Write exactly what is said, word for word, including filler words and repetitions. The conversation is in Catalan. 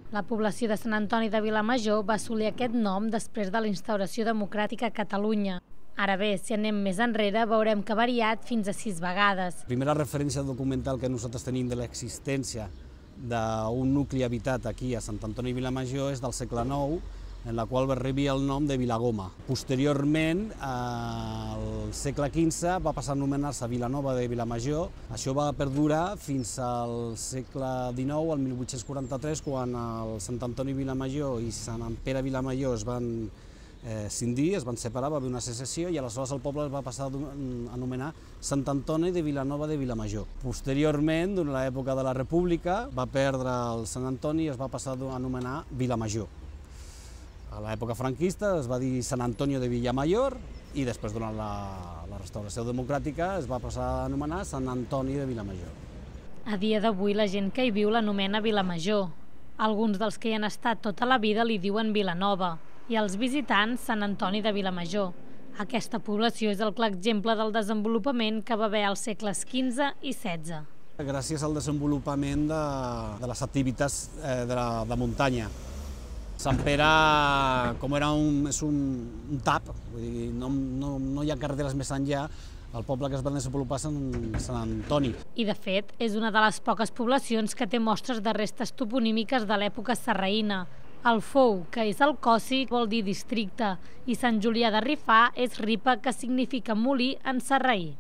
La població de Sant Antoni de Vilamajor va assolir aquest nom després de la instauració democràtica a Catalunya. Ara bé, si anem més enrere, veurem que ha variat fins a sis vegades. La primera referència documental que nosaltres tenim de l'existència d'un nucli habitat aquí a Sant Antoni de Vilamajor és del segle nou, en la qual va rebre el nom de Vilagoma. Posteriorment, al segle quinze, va passar a anomenar-se Vilanova de Vilamajor. Això va perdurar fins al segle dinou, al mil vuit-cents quaranta-tres, quan el Sant Antoni Vilamajor i Sant Pere Vilamajor es van eh, cindir, es van separar, va haver una secessió i aleshores el poble es va passar a anomenar Sant Antoni de Vilanova de Vilamajor. Posteriorment, durant l'època de la República, va perdre el Sant Antoni i es va passar a anomenar Vilamajor. A l'època franquista es va dir Sant Antonio de Villamayor i després, durant la, la restauració democràtica, es va passar a anomenar Sant Antoni de Vilamajor. A dia d'avui, la gent que hi viu l'anomena Vilamajor. Alguns dels que hi han estat tota la vida li diuen Vilanova i els visitants Sant Antoni de Vilamajor. Aquesta població és el clar exemple del desenvolupament que va haver als segles quinze i setze. Gràcies al desenvolupament de, de les activitats eh, de, la, de muntanya. Sant Pere, com era un, és un, un tap, vull dir, no, no, no hi ha carreteres més enllà, el poble que es va desenvolupar és Sant, Sant Antoni. I de fet, és una de les poques poblacions que té mostres de restes toponímiques de l'època sarraïna. El Fou, que és el Cossi, vol dir districte, i Sant Julià de Rifà és Ripa, que significa molí en sarraí.